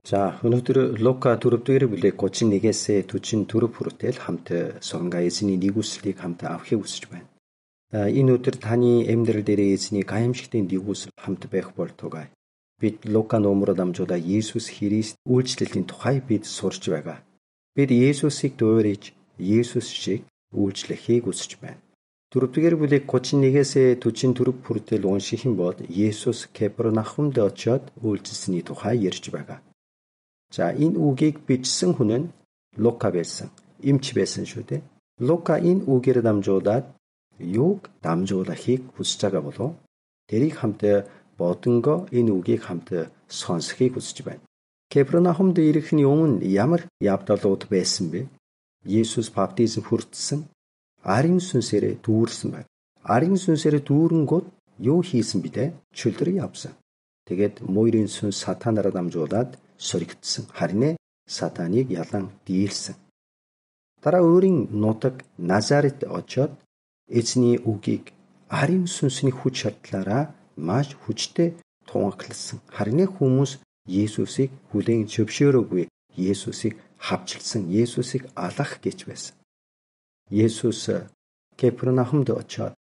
За, өнөөдөр Лука 4-р бүлэг 31-ээс 44 хүртэл хамт сонгоо эзний нэгүслийг хамт авахыг хүсэж байна. Энэ өдөр таны амьдрал дээр эзний гайхамшигтын нэгүсэл хамт байх болтугай. Бид Лука номоор дамжуулаад Есүс Христ үйлчлэлийн тухай бид сурч байгаа. Бид Есүсийг дуурайж, Есүс шиг үйлчлэхийг хүсэж байна. 4-р бүлэг 31-ээс 44 хүртэл унших юм бол Есүс Капернаумд очиод үйлчлсэний тухай ярьж байгаа. За, энэ үгийг бичсэн хүн нь Лука байсан. Эмч байсан шүү дээ. Лука энэ үгээр дамжуулаад юуг дамжуулахыг хүсэж байгаа болов? Тэрийг хамт бодонго энэ үгийг хамт сонсохыг хүсэж байна. Капернаумд ирэхний өмнө ямар явдалууд байсан бэ? Есүс баптизм хүртсэн, арын сүнсээр дүүрсэн байна. Арын сүнсээр дүүрэнгүүд юу хийсэн бэ? Чөлдөр явсан. Тэгээд мойрын сүнс сатанараа дамжуулаад соригдсон. Харин сатаныг ялан дийлсэн. Дараа өөрийн нутаг Назарет очоод эзний үгийг арын сүнсний хүч чадлаараа маш хүчтэй тунхагласан. Харин хүмүүс Есүсийг хүлээн зөвшөөрөөгүй. Есүсийг хавчилсан. Есүсийг алах гэж байсан. Есүс Капернаумд очоод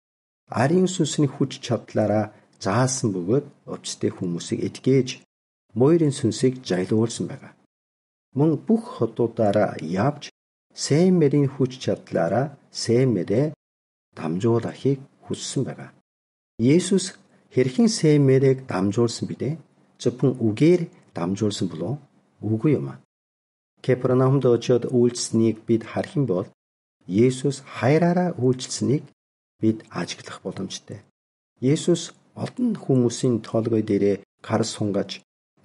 арын сүнсний хүч чадлаараа заасан бөгөөд өвчтэй хүмүүсийг эдгэж мойрын сүнсийг жайлуулсан байгаа. Мөн бүх хотуудаараа явж сайн мэрийн хүч чадлаараа сайн мэрээ дамжуулахыг хүссэн байгаа. Есүс хэрхэн сайн мэрийг дамжуулсан бэ? Зөвхөн үгээр дамжуулсан болов? Үгүй юм. Капернаумд очиод үйлчлсэнийг бид харах юм бол Есүс хайраараа үйлчлсэнийг бид ажиглах боломжтой. Есүс олон хүмүүсийн толгой дээрээ гар сунгаж,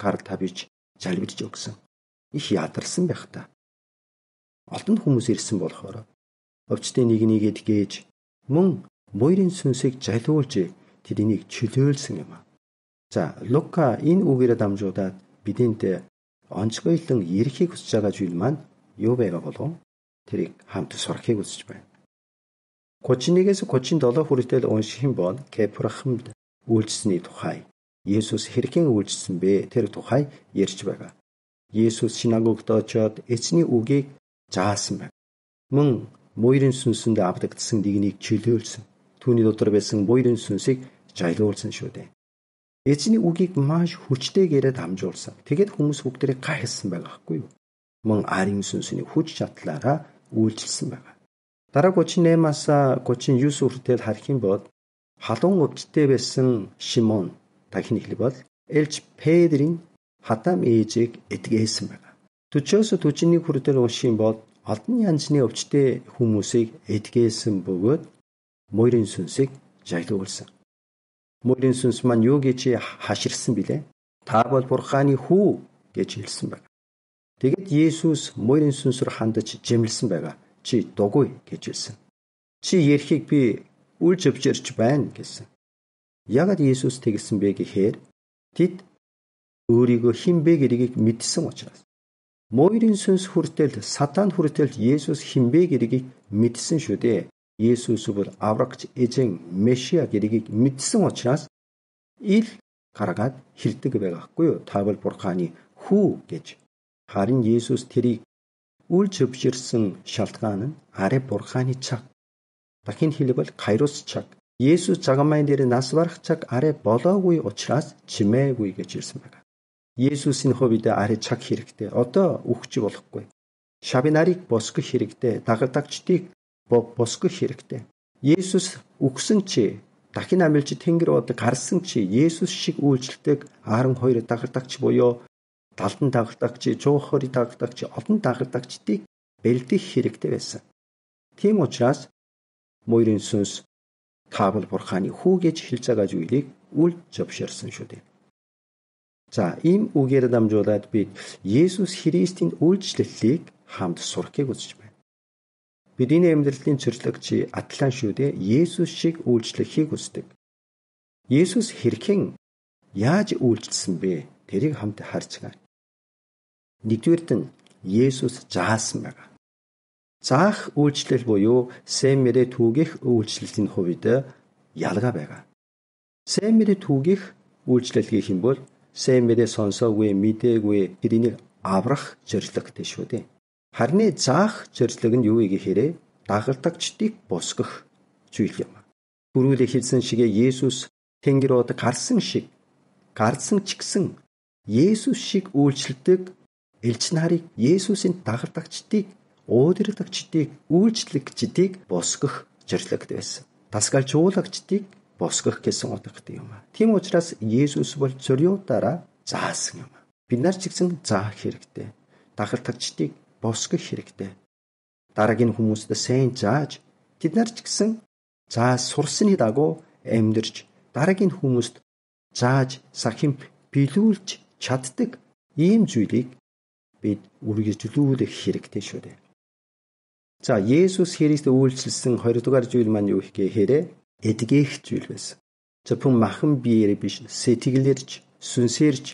гар тавьж, залбирж өгсөн. Их ядарсан байх та. Олон хүмүүс ирсэн болохоор өвчтөе нэг эдгэж, мөн мойрын сүнсийг жалиулж тэднийг чөлөөлсөн юм. За, Лука энэ үгээр дамжуулаад бидэнд онцгойлон ярихыг хүсэж байгаа зүйл маань юу байгаа болов? Тэрийг хамт сурахыг хүсэж байна. 31-ээс 37 хүртэл унших юм бол Капернаумд үйлчлсэний тухай, Есүс хэрхэн үйлчлсэн бэ? Тэр тухай ярьж байгаа. Есүс синагогт очоод эзний үгийг заасан байна. Мөн мойрын сүнсэнд авдагдсан нэгнийг чөлөөлсөн. Түүний дотор байсан мойрын сүнсийг жайлуулсан шүү дээ. Эзний үгийг маш хүчтэйгээр дамжуулсан. Тэгээд хүмүүс бүгдээ гайхсан байгаа хгүй юу? Мөн арын сүнсний хүч чадлаараа үйлчлсэн байгаа. Дараа 38-аас 39 хүртэл харах юм бол халуун өвчтөе байсан Шимон дахин хэлбэл бол Элж Петрийн хатам ээжийг эдгээсэн байгаа. 40-оос 41 хүртэл унших юм бол олон янзны өвчтөе хүмүүсийг эдгээсэн бөгөөд мойрын сүнсийг жайлуулсан. Мойрын сүнс маань юу гэж хаширсан билээ? Та бол Бурханы хүү гэж хэлсэн байна. Тэгэд Есүс мойрын сүнсээр хандаж жимлсэн байгаа. Чи дугуй гэж хэлсэн. Чи ярихыг би үл зөвшөөрч байна гэсэн. Яагаад Есүс тэгсэн бэ гэхээр тэд өөрийгөө хэн бэ гэдгийг мэдсэн учраас. Мойрын сүнс хүртэл сатан хүртэл Есүс хэн бэ гэдгийг мэдсэн шүү дээ. Есүс бол аврагч эзэн Месиа гэдгийг мэдсэн учраас ил гаргаад хэлдэг байгаахгүй юу? Та бол Бурханы хүү гэж. Харин Есүс тэрийг үл зөвшөөрсөн шалтгаан нь арай Бурханы цаг. Дахин хэлбэл Кайрос цаг. Есүс цагаан дээр нас барах цаг арай болоогүй учраас чимээгүй гэж хэлсэн байна. Есүсийн хувьд арай цаг хэрэгтэй. Одоо үхэж болохгүй. Шавинарыг босгох хэрэгтэй. Дагалдагчдыг босгох хэрэгтэй. Есүс үхсэн чи дахин амилж тэнгэр бод гарсан чи Есүс шиг үйлчлдэг 12 дагалдагч буюу 70 дагалдагч, 120 дагалдагч, олон дагалдагчдыг бэлдэх хэрэгтэй байсан. Тийм учраас мойрын сүнс та бол Бурханы хүү гэж хэлж байгаа зүйлийг үл зөвшөөрсөн шүү дээ. За, ийм үгээр дамжуулаад бид Есүс Христийн үйлчлэлийг хамт сурахыг хүсэж байна. Бидний амьдралын зорилгоч атлан шүү дээ. Есүс шиг үйлчлэхийг хүсдэг. Есүс хэрхэн яаж үйлчлсэн бэ? Тэрийг хамт харцгаая. Нэгдүгээрт нь Есүс заасан байгаа. Заах үйлчлэл буюу сайн мэрээ түгэх үйлчлэлийн хувьд ялгаа байгаа. Сайн мэрээ түгэх үйлчлэл гэх юм бол сайн мэрээ сонсоогүй, мэдээгүй, тэрийг аврах зорилготой шүү дээ. Харин заах зорилго нь юу гэхээр дагалдагчдыг босгох зүйл юм. Түрүүлээ хэлсэн шигээ Есүс Тэнгэр од гарсан ч гэсэн Есүс шиг үйлчлдэг элч нарыг, Есүсийн дагалдагчдыг, удирдагчдыг, үйлчлэгчдийг босгох зорилготой байсан. Дасгалжуулагчдыг босгох гэсэн утгатай юм. Тийм учраас Есүс бол зориудаараа заасан юм. Бид нар ч гэсэн заах хэрэгтэй. Дагалдагчдыг босгох хэрэгтэй. Дараагийн хүмүүст сайн зааж, тэд нар ч гэсэн зааж сурсны дагуу амьдарч, дараагийн хүмүүст зааж сахим биелүүлж чаддаг ийм зүйлийг бид үргэлжлүүлэх хэрэгтэй шүү дээ. За, Есүс Христ үйлчилсэн 20 дугаар зүйл маань юу гэхээр эдгэх зүйл байсан. Зөвхөн махан биеэр биш, сэтгэлэрч, сүнсээрч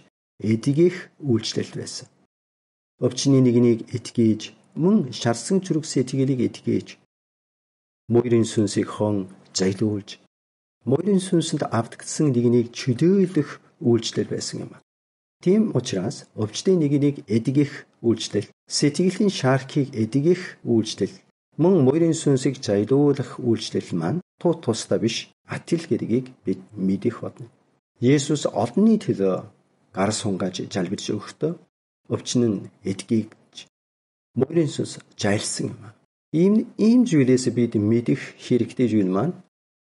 эдгэх үйлчлэл байсан. Өвчний нэгнийг эдгэж, мөн шарсан зүрх сэтгэлийг эдгэж, мөрийн сүнсийг хон зайлуулж, мөрийн сүнсэнд автгдсан нэгнийг чөлөөлөх үйлчлэл байсан юм. Тийм учраас өвчтөе нэгнийг эдгэх үйлчлэл, сэтгэлийн шаархийг эдгэх үйлчлэл, мөн мөрийн сүнсийг зайлуулах үйлчлэл маань тусдаа биш, атил гэдгийг бид мэдэх болно. Есүс олонний төлөө гар сунгааж залбирч өгөхдөө өвчин нь эдгийгч, мөрийн сүнс зайлсан юм. Ийм зүйлээс бид мэдэх хэрэгтэй зүйл маань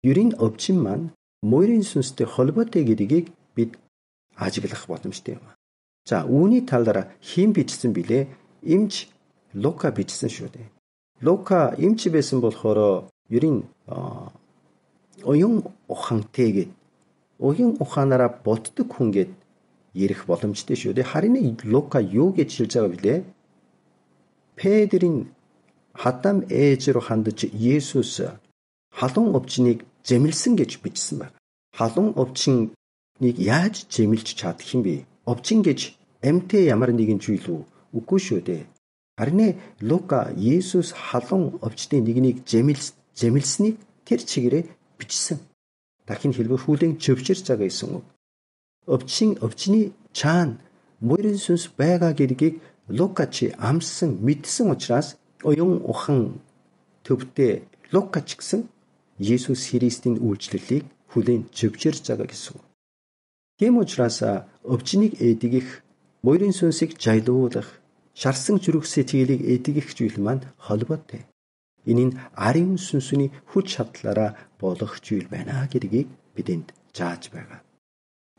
ерийн өвчин маань мөрийн сүнстэй холбоотой гэдгийг бид ажиглах боломжтой юм. За, үүний талаар хэн бичсэн бilé? Эмч Лука бичсэн шүү дээ. Лука эмч байсан болохоор ерийн оюун ухаантай гээд оюун ухаанаараа боддог хүн гээд ярих боломжтой шүү дээ. Харин Лука юу гэж хэлж байгаа бilé? Петрийн хадам ээж рүү хандаж Есүс халуун өвчнийг зэмлсэн гэж бичсэн байна. Халуун өвчнийг яаж зэмлж чадах юм бэ? Өвчин гэж амьтаа ямар нэгэн зүйл үү? Үгүй шүү дээ. Харин Лука Есүс халуун өвчтөе нэгнийг зэмлсэнийг тэр чигээрээ бичсэн. Дахин хэлбэл хүлээн зөвшөөрч байгаа гэсэн үг. Өвчний цаана мөрийн сүнс байгаа гэдгийг Лука чи амссан, мэдсэн учраас оюун ухаан төвтэй Лука ч гэсэн Есүс Христийн үйлчлэлийг хүлээн зөвшөөрч байгаа гэсэн үг. Тийм учраас өвчнийг эдгэх, мөрийн сүнсийг зайлуулах, шарсан зүрх сэтгэлийг эдгэх зүйл маань холбоотой. Энэ нь ариун сүнсний хүч чадлаараа болох зүйл байна гэдгийг бидэнд зааж байгаа.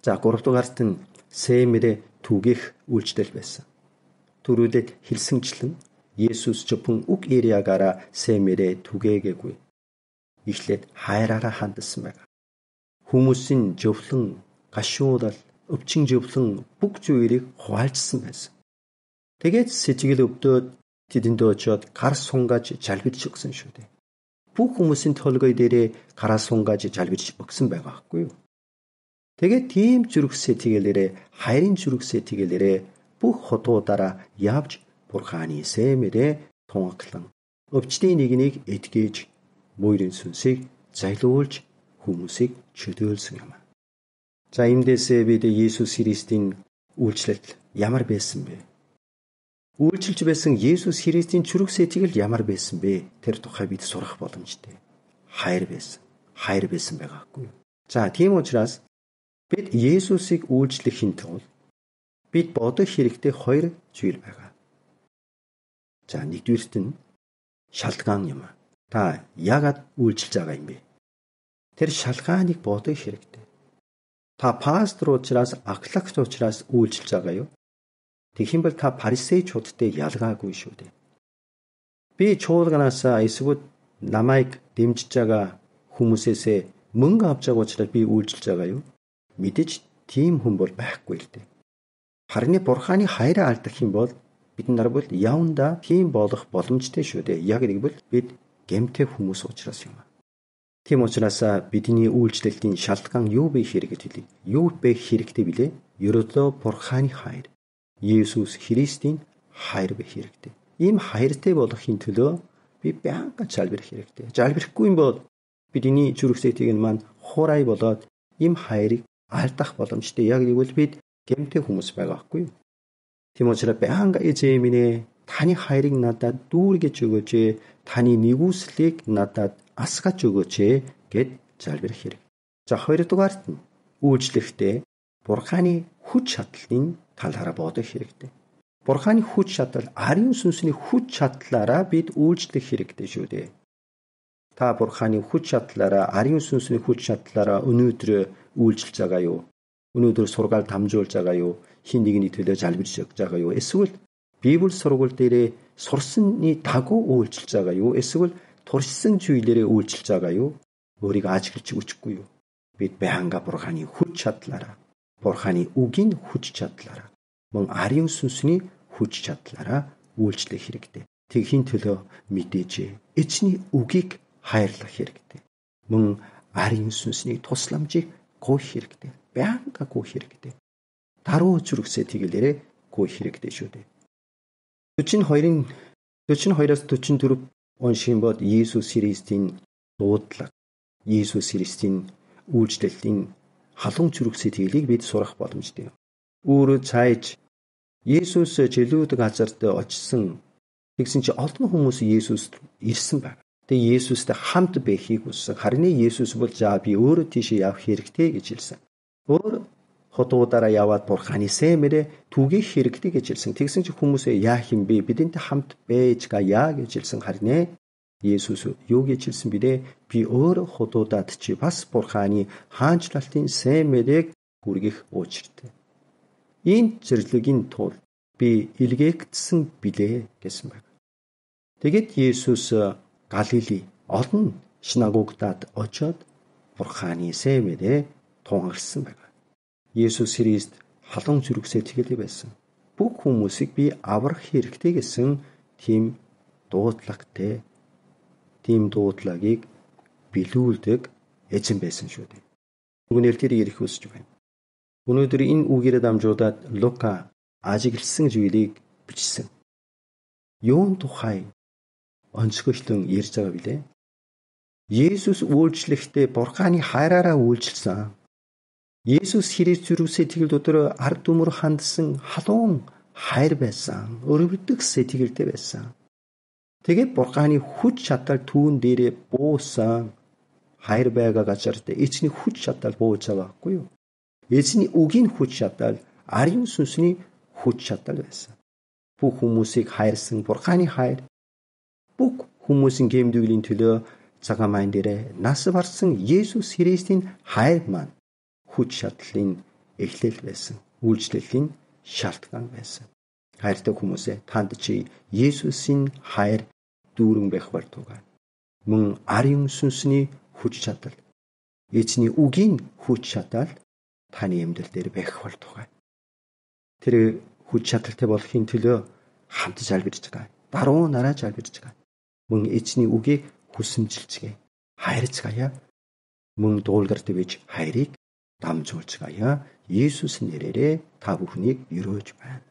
За, 3 дугаарт нь сэмэрэ түгэх үйлчлэл байсан. Түрүүлээд хэлсэнчлэн Есүс зөвхөн үг яриагаараа сэмэрэ түгээгээгүй. Эхлээд хайраараа хандсан байна. Хүмүүсийн зөвлөн, гашуудал, өвчин зөвлөн бүх зүйлийг хуваалцсан байсан. Тэгээд сэтгэл өвдөөд тэдэнд очиод гар сунгааж залбирч өгсөн шүү дээ. Бүх хүмүүсийн толгой дээрээ гараа сунгааж залбирч өгсөн байгаа байхгүй юу? Тэгээд тийм зүрх сэтгэлээрээ, хайрын зүрх сэтгэлээрээ бүх хотуудаараа явж Бурханы сэмэрээ тунгаглан өвчтөе нэгнийг эдгэж, мөрийн сүнсийг зайлуулж хүмүүсийг чөлөөлсөн юм. За, эндээсээ бид Есүс Христийн үйлчлэл ямар байсан бэ? Үйлчилж байсан Есүс Христийн зүрх сэтгэл ямар байсан бэ? Тэр тухай бид сурах боломжтой. Хайр байсан. Хайр байсан байгаа хгүй юу? За, тийм учраас бид Есүсийг үйлчлэхийн тулд бид бодох хэрэгтэй 2 зүйл байгаа. За, нэгдүгээрт нь шалтгаан юм. Та яагаад үйлчилж байгаа юм бэ? Тэр шалтгааныг бодох хэрэгтэй. Та пастор учраас, ахлагч учраас үйлчилж байгаа юу? Тэгэх юм бол та фарисеучудтай ялгаагүй шүү дээ. Би чуулганаасаа эсвэл намайг дэмжиж байгаа хүмүүсээсээ мөнгө авч байгаа учраас би үйлчилж байгаа юу? Мэдээж тийм хүн бол байхгүй л дээ. Харин Бурханы хайраа алдах юм бол бид нар бол явандаа тийм болох боломжтой шүү дээ. Яг гэвэл бид гэмтэй хүмүүс учраас юм. Тийм учраас бидний үйлчлэлийн шалтгаан юу бэ хэрэгэт хэлье. Юу бэ хэрэгтэй билээ? Ерөөдөө Бурханы хайр. Есүс Христийн хайр бэ хэрэгтэй. Ийм хайртай болохын төлөө би байнга залбирх хэрэгтэй. Залбихгүй юм бол бидний зүрх сэтгэл маань хурай болоод ийм хайрыг алдах боломжтой. Яг гэвэл бид гэмтэй хүмүүс байгаа байхгүй юу? Тийм учраас байнга эзэн минь таны хайрыг надад дүүргэж өгөөч. Таны нэгүслийг надад асгаж өгөөч гэд залбирах хэрэг. За хоёрдугаарт нь үйлчлэхдээ Бурханы хүч чадлын талаараа бодох хэрэгтэй. Бурханы хүч чадал, ариун сүнсний хүч чадлаараа бид үйлчлэх хэрэгтэй шүү дээ. Та Бурханы хүч чадлаараа, ариун сүнсний хүч чадлаараа өнөөдөр үйлчлж байгаа юу? Өнөөдөр сургаал дамжуулж байгаа юу? Хин нэгний төлөө залбирж байгаа юу? Эсвэл Библи сургууль дээрээ сурсны дагуу үйлчлж байгаа юу? Эсвэл туршсан зүйлээрээ үйлчлж байгаа юу? Өөрийгөө ажиглаж өчөхгүй юу? Бид байнга Бурханы хүч чадлаараа, Бурханы үгийн хүч чадлаараа, мөн ариун сүнсний хүч чадлаараа үйлчлэх хэрэгтэй. Тэгхийн төлөө мэдээж эзний үгийг хайрлах хэрэгтэй. Мөн ариун сүнсний тусламжийг гуйх хэрэгтэй. Байнга гуйх хэрэгтэй. Даруй зүрхсээ тэгэлээрээ гуйх хэрэгтэй шүү дээ. 42-аас 44 уншийн бод Иесус Христийн дуудлага, Иесус Христийн үйлчлэлийн халуун зүрхсээ тэглийг бид сурах боломжтой. Өөр цааш Иесус чөлөөт газарт очсон. Тэгсэн чи олон хүмүүс Иесуст ирсэн байна. Тэгээ Иесустэй хамт байхыг хүссэн. Харин Иесус бол за би өөрөө тийшээ явах хэрэгтэй гэж хэлсэн. Өөр хотуудаараа яваад Бурханы сэмэрэ түгэх хэрэгтэй гэж хэлсэн. Тэгсэн чи хүмүүсээ яах юм бэ? Бидэнтэй хамт байж гаяа гэж хэлсэн. Харин Иесус юу гэж хэлсэн бэ? Би өөр хотуудад чи бас Бурханы хаанчлалтын сэмэрийг хүргэх учиртай. Энэ зэрлэгийн тулд би илгээгдсэн билээ гэсэн байна. Тэгэд Иесус Галили олон шинагогдад очоод Бурханы сэмэрээ тунхагласан байна. Иесус Христ халуун зүрхсээ тэгэлээ байсан. Бүх хүмүүсийг би аврах хэрэгтэй гэсэн тийм дуудлагатай, тийм дуудлагыг билүүлдэг эзэн байсан шүү дээ. Түүнээр тэр ирэх хүсэж байна. Өнөөдөр энэ үгээр дамжуулаад Лука ажигласан зүйлийг бичсэн. Юун тухай онцгойлон ярьж байгаа билээ? Иесус үйлчлэхдээ Бурханы хайраараа үйлчилсэн. Иесус Христ зүрхсээ тэгэл дотор ард түмөр хандсан халуун хайр байсан. Өрөвдөх сэтгэлтэй байсан. Тэгээд Бурханы хүч чадал түүн дээрээ буусан. Хайр байгаа газарт эзний хүч чадал бууж байгаа байхгүй юу? Эзний үгийн хүч чадал, ариун сүнсний хүч чадал байсан. Бүх хүмүүсийг хайрсан Бурханы хайр, бүх хүмүүсийн гэмдэглийн төлөө цагаан маян дээр нас барсан Иесус Христийн хайр маань хүч чадлын эхлэл байсан. Үйлчлэлийн шалтгаан байсан. Хайртай хүмүүсээ танд чи Иесусийн хайр дүүрэн байх болтугай. Мөн ариун сүнсний хүч чадал, эзний үгийн хүч чадал таны амьдрал дээр байх болтугай. Тэр хүч чадалтай болохын төлөө хамт залбирч байгаа. Даруй нараа залбирч байгаа. Мөн эзний үгийг хүсэмжилцгээе. Хайрцгаая. Мөн дуулгарт бич хайрыг дамжуулцгаая. Иесус нэрээрээ та бүхнийг өрөөж байна.